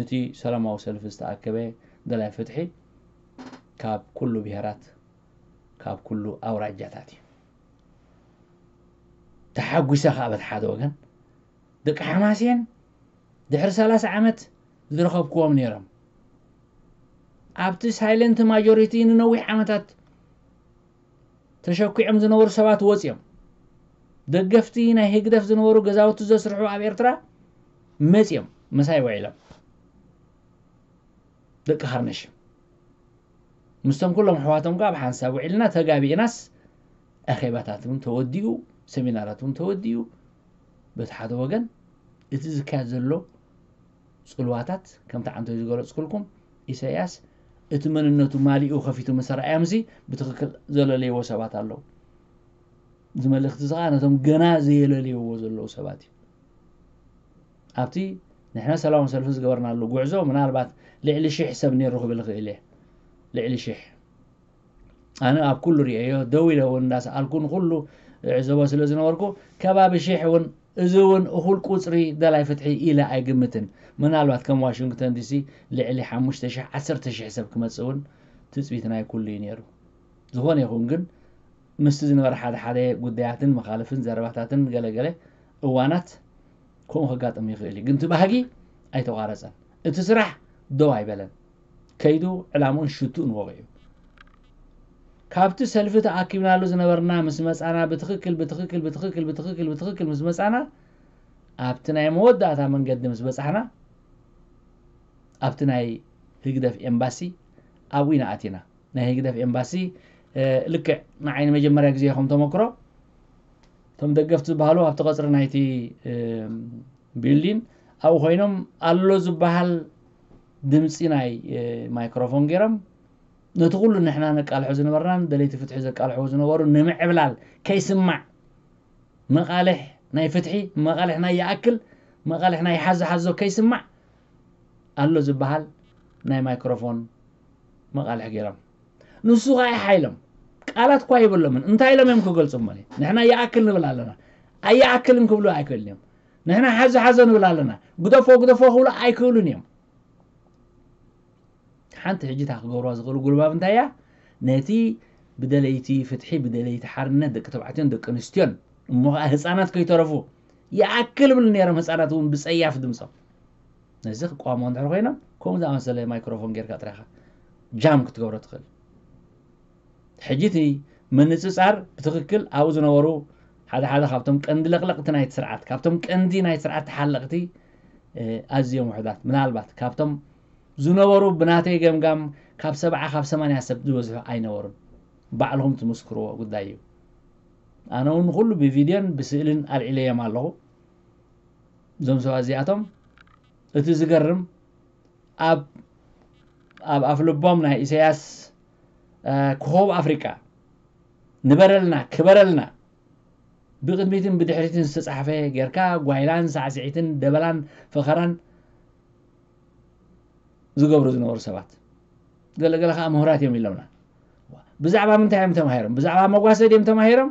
እቲ ሰላማዊ ሰልፊ ዝተኣከበ ደላይ ፍትሒ ካብ ኩሉ ብሄራት ካብ ኩሉ ኣውራጃታት እዩ። ተሓጒሰ ከዓ በቲ ሓደ ወገን ደቂ ሓማሴን ድሕሪ ሰላሳ ዓመት ዝረኸብክዎም ነይሮም ኣብቲ ሳይለንት ማጆሪቲ ንነዊሕ ዓመታት ተሸኪዖም ዝነበሩ ሰባት ወፂኦም። ደገፍቲ ናይ ህግደፍ ዝነበሩ ገዛውቲ ዘስርሑ ኣብ ኤርትራ መፂኦም ምሳይ ውዒሎም። ደቂ ሃርነሽ ምስቶም ኩሎም ኣሕዋቶም ከዓ ብሓንሳብ ውዒልና ተጋቢእናስ ኣኼባታት እውን ተወዲኡ፣ ሰሚናራት እውን ተወዲኡ። በቲ ሓደ ወገን እቲ ዝካየድ ዘሎ ፅልዋታት ከምቲ ዓንቶ ዝገለፅኩልኩም ኢሳያስ እቲ መንነቱ ማሊኡ ከፊቱ ምስ ኣርኣዮምሲ ብትኽክል ዘለለይዎ ሰባት ኣለዉ። እዚ መልእኽቲ እዚ ከዓ ነቶም ገና ዘየለልይዎ ዘለዉ ሰባት እዩ። ኣብቲ ንሕና ሰላማዊ ሰልፊ ዝገበርናሉ ጉዕዞ ምናልባት ልዕሊ ሽሕ ሰብ ነይሩ ክብል ይኽእል እየ። ልዕሊ ሽሕ ኣነ ኣብ ኩሉ ርእየዮ ደው ኢለ እውን እንዳሰኣልኩ ንኩሉ እዕዘቦ ስለ ዝነበርኩ ከባቢ ሽሕ እውን እዚ እውን እኹል ቁፅሪ ደላይ ፍትሒ ኢለ ኣይግምትን። ምናልባት ከም ዋሽንግተን ዲሲ ልዕሊ ሓሙሽተ ሽሕ ዓሰርተ ሽሕ ሰብ ክመፅእ እውን ትፅቢት ናይ ኩሉ እዩ ነይሩ። ዝኾነ ይኹን ግን ምስቲ ዝነበረ ሓደ ሓደ ጉዳያትን መኻልፍን ዘረባታትን ገለገለ እዋናት ከምኡ ከጋጥም ይኽእል እዩ። ግን እቲ ባህጊ ኣይተቋረፀን። እቲ ስራሕ ደው ኣይበለን። ከይዱ ዕላምኡን ሽቱኡን ወቒዑ። ካብቲ ሰልፊ ተኣኪብናሉ ዝነበርና ምስ መፃና ብትኽክል ብትኽክል ብትኽክል ብትኽክል ብትኽክል ምስ መፃና ኣብቲ ናይ መወዳእታ መንገዲ ምስ በፃሕና ኣብቲ ናይ ህግደፍ ኤምባሲ ኣብኡ ኢና ኣቲና። ናይ ህግደፍ ኤምባሲ ልክዕ ንዓይ ንመጀመርያ ግዜ ከም ተመክሮ እቶም ደገፍቲ ዝበሃሉ ኣብቲ ቀፅሪ ናይቲ ቢልዲን ኣብኡ ኮይኖም ኣሎ ዝበሃል ድምፂ ናይ ማይክሮፎን ገይሮም ነቲ ኩሉ ንሕና ነቃልሖ ዝነበርናን ደለይቲ ፍትሒ ዘቃልሕዎ ዝነበሩ ንምዕብላል ከይስማዕ መቃልሕ ናይ ፍትሒ መቃልሕ ናይ ይኣክል መቃልሕ ናይ ሓዞ ሓዞ ከይስማዕ ኣሎ ዝበሃል ናይ ማይክሮፎን መቃልሕ ገይሮም ንሱ ከዓ ሓይሎም ቃላት እኳ ይብሎምን እንታይ ኢሎም እዮም ክገልፁ እሞ ንሕና ይኣክል ንብል ኣለና ኣይኣክልን ክብሉ ኣይክእልን እዮም ንሕና ሓዞ ሓዞ ንብል ኣለና ግደፎ ግደፎ ክብሉ ኣይክእሉን እዮም ሓንቲ ሕጂ እታ ክገብርዋ ዝኽእሉ ጉልባብ እንታይ እያ ነቲ ብደለይቲ ፍትሒ ብደለይቲ ሓርነት ደቂ ተባዕትዮን ደቂ ኣንስትዮን እሞ ከዓ ህፃናት ከይተረፉ ይኣክል ይብሉ ነይሮም ህፃናት እውን ብፀያፍ ድምፆም ነዚ ክቋሞ እንድሕር ኮይኖም ከምኡ ዝኣመሰለ ማይክሮፎን ጌርካ ጥራኻ ጃም ክትገብሮ ትኽእል ሕጂ እቲ ምንፅፃር ብትኽክል ኣብኡ ዝነበሩ ሓደ ሓደ ካብቶም ቀንዲ ለቕለቕቲ ናይቲ ስርዓት ካብቶም ቀንዲ ናይ ስርዓት ተሓለቕቲ ኣዝዮም ውሕዳት ምናልባት ካብቶም ዝነበሩ ብናተይ ገምጋም ካብ ሰብዓ ካብ ሰማንያ ሰብ ዝበዝሑ ኣይነበሩን ባዕልኹም ትምስክርዎ ጉዳይ እዩ ኣነ እውን ንኩሉ ብቪድዮን ብስእልን ኣልዒለዮም ኣለኹ እዞም ሰባት እዚኣቶም እቲ ዝገርም ኣብ ኣብ ኣፍልቦም ናይ ኢሳያስ ኮኸብ ኣፍሪቃ ንበረልና ክበረልና ብቅድሚትን ብድሕሪትን ዝተፃሕፈ ጌርካ ጓይላን ሳዕስዒትን ደበላን ፈኸራን ዝገብሩ ዝነበሩ ሰባት ገለገለ ከዓ ምሁራት እዮም ኢሎምና። ብዛዕባ ምንታይ እዮም ተማሂሮም? ብዛዕባ መጓሰ ድዮም ተማሂሮም?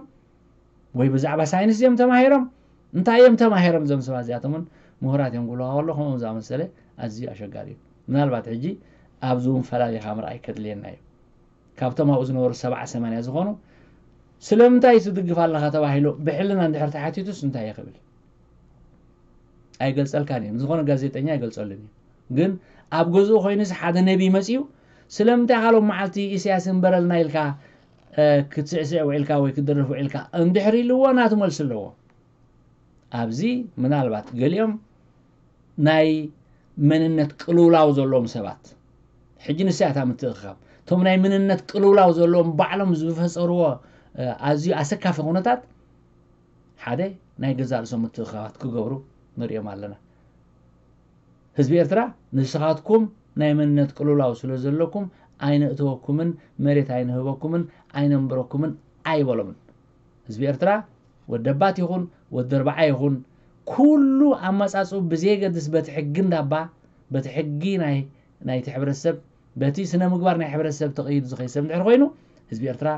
ወይ ብዛዕባ ሳይንስ እዮም ተማሂሮም? እንታይ እዮም ተማሂሮም እዞም ሰባት እዚኣቶምን? ምሁራት እዮም ክብልዋ ከሎ ከምኦም ዝኣመሰለ ኣዝዩ ኣሸጋሪ እዩ። ምናልባት ሕጂ ኣብዚ እውን ፈላሊኻ ምርኣይ ከድልየና እዩ። ካብቶም ኣብኡ ዝነበሩ ሰብዓ ሰማንያ ዝኾኑ ስለምንታይ ትድግፍ ኣለኻ ተባሂሉ ብሕልና እንድሕር ተሓቲቱስ እንታይ እዩ ክብል? ኣይገልጸልካን እዩ። ዝኾነ ጋዜጠኛ ኣይገልጸሉን እዩ። ግን ኣብ ገዝኡ ኮይኑስ ሓደ ነቢ መጺኡ ስለምንታይ ካልኦም መዓልቲ ኢሳያስ እንበረልና ኢልካ ክትስዕስዕ ውዒልካ ወይ ክትደርፍ ውዒልካ እንድሕር ኢልዎ ናቱ መልሲ ኣለዎ። ኣብዚ ምናልባት ገሊኦም ናይ መንነት ቅልውላው ዘለዎም ሰባት ሕጂ ንስያታ ምትእኽኻብ እቶም ናይ መንነት ቅልውላው ዘለዎም ባዕሎም ዝፈፀርዎ ኣዝዩ ኣሰካፊ ኩነታት ሓደ ናይ ገዛ ርእሶም ምትእኽኻባት ክገብሩ ንሪኦም ኣለና። ህዝቢ ኤርትራ ንስኻትኩም ናይ መንነት ቅልውላው ስለ ዘለኩም ኣይነእተወኩምን መሬት ኣይንህበኩምን ኣይነንብረኩምን ኣይበሎምን። ህዝቢ ኤርትራ ወደባት ይኹን ወደርባዓ ይኹን ኩሉ ኣመጻጽኡ ብዘየገድስ በቲ ሕጊ እንዳባ በቲ ሕጊ ናይ ናይቲ ሕብረተሰብ በቲ ስነ ምግባር ናይ ሕብረተሰብ ተቐይዱ ዝኸይድ ሰብ እንድሕር ኮይኑ ህዝቢ ኤርትራ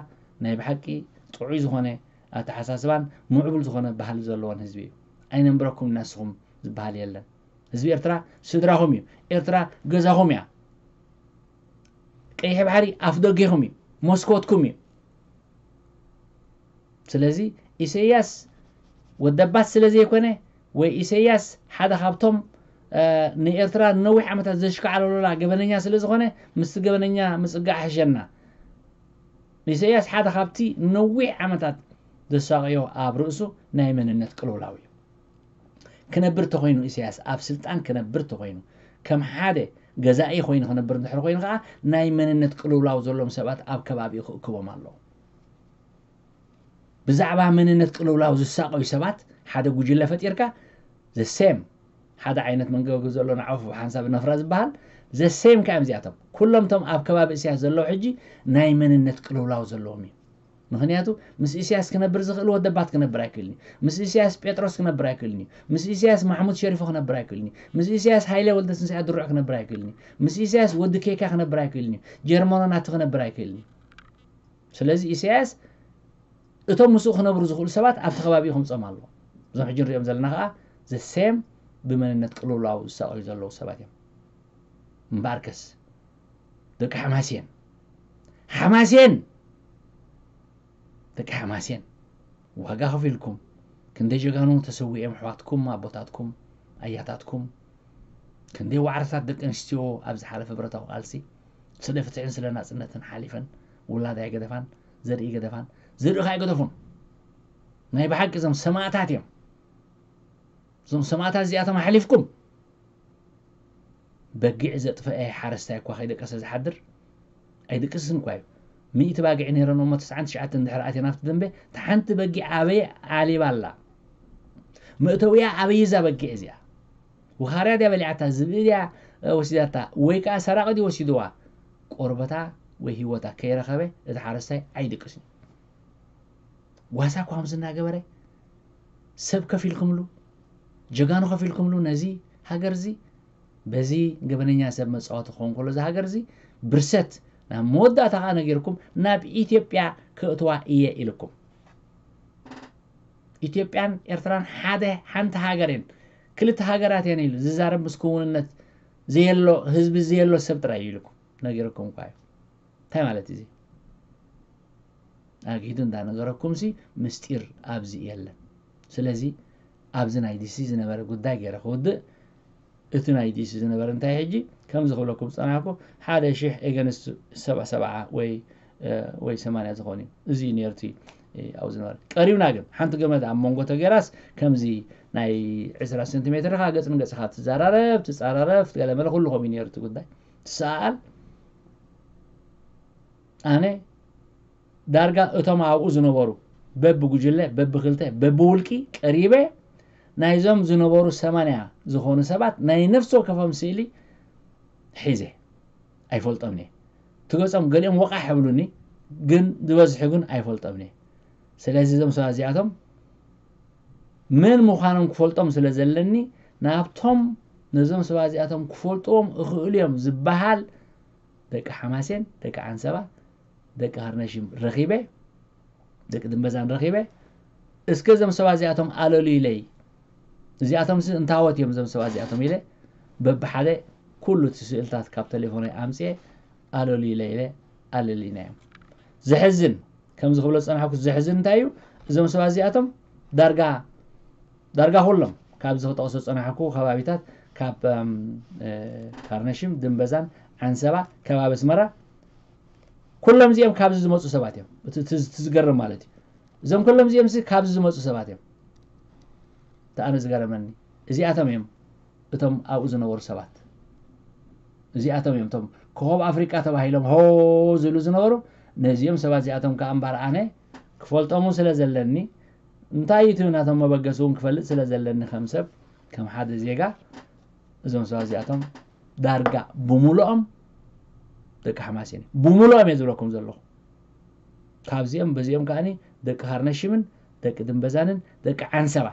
ናይ ብሓቂ ጥዑይ ዝኾነ ኣተሓሳስባን ምዕቡል ዝኾነ ባህሊ ዘለዎን ህዝቢ እዩ። ኣይነንብረኩም እናስኹም ዝበሃል የለን። ህዝቢ ኤርትራ ስድራኹም እዩ። ኤርትራ ገዛኹም እያ። ቀይሕ ባሕሪ ኣፍ ደጌኹም እዩ፣ መስኮትኩም እዩ። ስለዚ ኢሰያስ ወደባት ስለ ዘይኮነ ወይ ኢሰያስ ሓደ ካብቶም ንኤርትራ ንነዊሕ ዓመታት ዘሽካዕለሉላ ገበነኛ ስለ ዝኾነ ምስቲ ገበነኛ ምጽጋዕ ሕሸና። ኢሰያስ ሓደ ካብቲ ነዊሕ ዓመታት ዘሳቀዮ ኣብ ርእሱ ናይ መንነት ቅልውላው እዩ። ክነብር ተኾይኑ ኢሳያስ ኣብ ስልጣን ክነብር ተኾይኑ ከም ሓደ ገዛኢ ኮይኑ ክነብር እንድሕር ኮይኑ ከዓ ናይ መንነት ቅልውላው ዘለዎም ሰባት ኣብ ከባቢኡ ክእክቦም ኣለዎ። ብዛዕባ መንነት ቅልውላው ዝሳቀዩ ሰባት ሓደ ጉጅለ ፈጢርካ ዘሴም ሓደ ዓይነት መንገዲ ዘሎ ንዓፉ ሓንሳብ ነፍራ ዝበሃል ዘሴም ከ እዮም እዚኣቶም ኩሎም ቶም ኣብ ከባቢ ኢሳያስ ዘለዉ ሕጂ ናይ መንነት ቅልውላው ዘለዎም እዩ። ምኽንያቱ ምስ ኢሳያስ ክነብር ዝኽእል ወደባት ክነብር ኣይክእልን እዩ። ምስ ኢሳያስ ጴጥሮስ ክነብር ኣይክእልን እዩ። ምስ ኢሳያስ ማሕሙድ ሸሪፎ ክነብር ኣይክእልን እዩ። ምስ ኢሳያስ ሃይለ ወልደትንሳኤ ድሩዕ ክነብር ኣይክእልን እዩ። ምስ ኢሳያስ ወዲ ኬካ ክነብር ኣይክእልን እዩ። ጀርመኖ ናቲ ክነብር ኣይክእልን እዩ። ስለዚ ኢሳያስ እቶም ምስኡ ክነብሩ ዝኽእሉ ሰባት ኣብቲ ከባቢኡ ከምፅኦም ኣለዎ። እዞም ሕጂ ንሪኦም ዘለና ከዓ ዘሴም ብመንነት ቅልውላው ዝሳቀዩ ዘለዉ ሰባት እዮም። እምበኣርከስ ደቂ ሓማሴን ሓማሴን ደቂ ሓማሴን ዋጋ ከፊልኩም ክንደይ ጀጋኑ ተሰዊኦም ኣሕዋትኩም ኣቦታትኩም ኣያታትኩም ክንደይ ዋዕርታት ደቂ ኣንስትዮ ኣብ ዝሓለፈ ብረታዊ ቃልሲ ስለ ፍትሕን ስለ ናፅነትን ሓሊፈን ውላድ ኣይገደፋን ዘርኢ ገደፋን ዘርኢ ከኣ ኣይገደፉን ናይ ብሓቂ እዞም ሰማእታት እዮም እዞም ሰማእታት እዚኣቶም ኣሕሊፍኩም በጊዕ ዘጥፈአ ሓረስታይ እኳ ከይደቀሰ ዝሓድር ኣይድቅስን እኳ እዩ። ሚእቲ ባጊዕ ነይረን እሞ ተስዓን ትሽዓተን እንድሕር ኣትየን ኣብቲ ደንበ እታ ሓንቲ በጊዕ ኣበይ ዓሊባ ኣላ? መእተዊኣ ኣበይ እዛ በጊዕ እዚኣ? ውኻርያ ድያ በሊዓታ? ዝብኢ ድያ ወሲዳታ? ወይ ከዓ ሰራቒ ድዩ ወሲድዋ? ቆርበታ ወይ ህይወታ ከይረኸበ እቲ ሓረስታይ ኣይድቅስን እዩ። ዋሳ እኳ ከምዚ እናገበረ ሰብ ከፊልኩምሉ ጀጋኑ ከፊልኩምሉ ነዚ ሃገር እዚ በዚ ገበነኛ ሰብ መፃወቲ ክኸውን ከሎ እዚ ሃገር እዚ ብርሰት ናብ መወዳእታ ከዓ ነጊርኩም ናብ ኢትዮጵያ ክእትዋ እየ ኢልኩም ኢትዮጵያን ኤርትራን ሓደ ሓንቲ ሃገር እየን ክልተ ሃገራት እየን ኢሉ ዝዛረብ ምስ ክውንነት ዘየሎ ህዝቢ ዘየሎ ሰብ ጥራይ እዩ ኢልኩም ነጊርኩም እኳ እዩ እንታይ ማለት እዚ ኣግሂዱ እንዳነገረኩም ሲ ምስጢር ኣብዚ የለን ስለዚ ኣብዚ ናይ ዲሲ ዝነበረ ጉዳይ ገይረ ክውድእ እቲ ናይ ዲሲ ዝነበረ እንታይ ሕጂ ከምዚ ክብለኩም ዝፀናሕኩ ሓደ ሽሕ ኤገንስት ሰብዓ ሰብዓ ወይ ወይ ሰማንያ ዝኾን እዩ እዚ ነርቱ ኣብኡ ዝነበረ ቀሪብና ግን ሓንቲ ገመድ ኣብ መንጎ ተገይራስ ከምዚ ናይ ዕስራ ሰንቲሜትር ካ ገፅ ንገፅካ ትዘራረብ ትፀራረብ ገለ መለ ኩሉ ከምኡ ነርቱ ጉዳይ ትሰኣል ኣነ ዳርጋ እቶም ኣብኡ ዝነበሩ በብጉጅለ በብክልተ በብውልቂ ቀሪበ ናይዞም ዝነበሩ ሰማንያ ዝኾኑ ሰባት ናይ ነፍሲ ወከፎም ስእሊ ሒዘ ኣይፈልጦምን እየ ትገጾም ገሊኦም ወቃሕ ይብሉኒ ግን ዝበዝሑ ግን ኣይፈልጦምን እየ ስለዚ እዞም ሰባት እዚኣቶም መን ምዃኖም ክፈልጦም ስለ ዘለኒ ናብቶም ነዞም ሰባት እዚኣቶም ክፈልጥዎም እኽእሉ እዮም ዝበሃል ደቂ ሓማሴን፣ ደቂ ዓንሰባ፣ ደቂ ሃርነሽም ረኺበ፣ ደቂ ድንበዛን ረኺበ፣ እስከ እዞም ሰባት እዚኣቶም ኣለሉይለይ። እዚኣቶምሲ እንታወት እዮም እዞም ሰባት እዚኣቶም ኢለ በብሓደ ኩሉ እቲ ስእልታት ካብ ቴሌፎነይ ኣምፅኤ ኣለሉይለይ ኢለ ኣለልይናዮም። ዘሕዝን፣ ከምዚ ክብሎ ዝፀናሕኩ ዘሕዝን እንታይ እዩ? እዞም ሰባት እዚኣቶም ዳርጋ ዳርጋ ኩሎም ካብዚ ክጠቕሶ ዝፀናሕኩ ከባቢታት ካብ ኣም፣ እ፣ ካርነሽም፣ ድንበዛን ዓንሰባ ከባቢ ኣስመራ ኩሎም እዚኦም ካብዚ ዝመፁ ሰባት እዮም። እቲ እቲ- እቲ ዝገርም ማለት እዩ። እዞም ኩሎም እዚኦም ሲ ካብዚ ዝመፁ ሰባት እዮም። እቲ ኣነ ዝገረመኒ እዚኣቶም እዮም እቶም ኣብኡ ዝነበሩ ሰባት። እዚኣቶም እዮም እቶም ኮኸብ ኣፍሪቃ ተባሂሎም ሆ ዝብሉ ዝነበሩ። ነዚኦም ሰባት እዚኣቶም ከዓ እምበኣር ኣነ ክፈልጦም እውን ስለ ዘለኒ እንታይ እዩ እቲ ናቶም መበገሲ እውን ክፈልጥ ስለ ዘለኒ ከም ሰብ ከም ሓደ ዜጋ እዞም ሰባት እዚኣቶም ዳርጋ ብምሉኦም ደቂ ሓማሴን እዮም። ብምሉኦም እየ ዝብለኩም ዘለኹ። ካብዚኦም በዚኦም ከዓኒ ደቂ ሃርነሽምን ደቂ ድንበዛንን ደቂ ዓንሰባ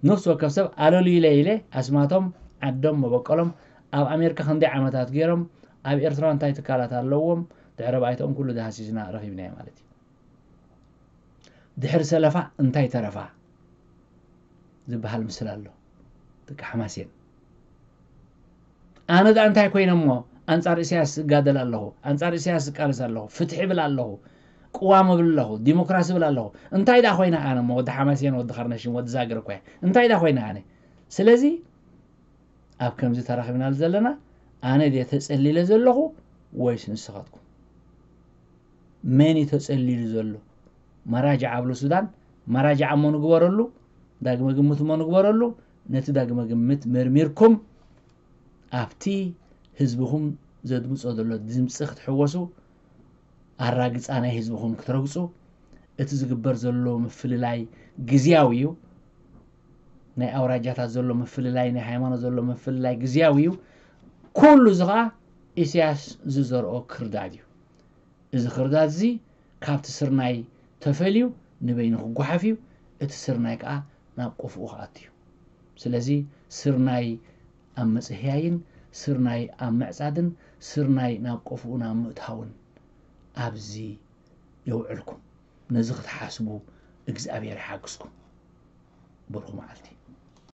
ነፍሲ ወከፍ ሰብ ኣለሉ ኢለ ኢለ ኣስማቶም ዓዶም መበቆሎም ኣብ ኣሜሪካ ክንደይ ዓመታት ገይሮም ኣብ ኤርትራ እንታይ ትካላት ኣለዎም ድሕረ ባይትኦም ኩሉ ዳሃሲስና ረኺብናዮ ማለት እዩ። ድሕሪ ሰለፋ እንታይ ተረፋ ዝበሃል ምስል ኣሎ። ደቂ ሓማሴን ኣነ ዳ እንታይ ኮይነ እሞ ኣንጻር ኢሳያስ እጋደል ኣለኹ፣ ኣንጻር ኢሳያስ እቃለስ ኣለኹ፣ ፍትሒ ብል ኣለኹ፣ ቅዋም እብል ኣለኹ፣ ዲሞክራሲ ብል ኣለኹ። እንታይ ዳ ኮይነ ኣነ እሞ ወዲ ሓማሴን፣ ወዲ ኸርነሽም፣ ወዲ ዛግር እኮ እየ። እንታይ ዳ ኮይነ ኣነ? ስለዚ ኣብ ከምዚ ተራኺብናሉ ዘለና ኣነ ድየ ተጸሊለ ዘለኹ ወይስ ንስኻትኩም? መን እዩ ተጸሊሉ ዘሎ? መራጃዕ ኣብሉ ሱዳን፣ መራጃዕ እሞ ንግበረሉ፣ ዳግመ ግምት እሞ ንግበረሉ። ነቲ ዳግመ ግምት መርሚርኩም ኣብቲ ህዝብኹም ዘድምጾ ዘሎ ድምጺ ክትሕወሱ፣ ኣራግጻ ናይ ህዝብኹም ክትረግጹ፣ እቲ ዝግበር ዘሎ ምፍልላይ ግዝያዊ እዩ። ናይ ኣውራጃታት ዘሎ ምፍልላይ፣ ናይ ሃይማኖት ዘሎ ምፍልላይ ግዝያዊ እዩ። ኩሉ እዚ ኸኣ ኢሳያስ ዝዘርኦ ክርዳድ እዩ። እዚ ክርዳድ እዚ ካብቲ ስርናይ ተፈልዩ ንበይኑ ክጓሓፍ እዩ። እቲ ስርናይ ከኣ ናብ ቆፍኡ ክኣቱ እዩ። ስለዚ ስርናይ ኣብ ምጽህያይን ስርናይ ኣብ ምዕጻድን ስርናይ ናብ ቆፍኡ ናብ ምእታውን ኣብዚ የውዕልኩም። ነዚ ክትሓስቡ እግዚኣብሔር ይሓግዝኩም። ብሩኽ መዓልቲ።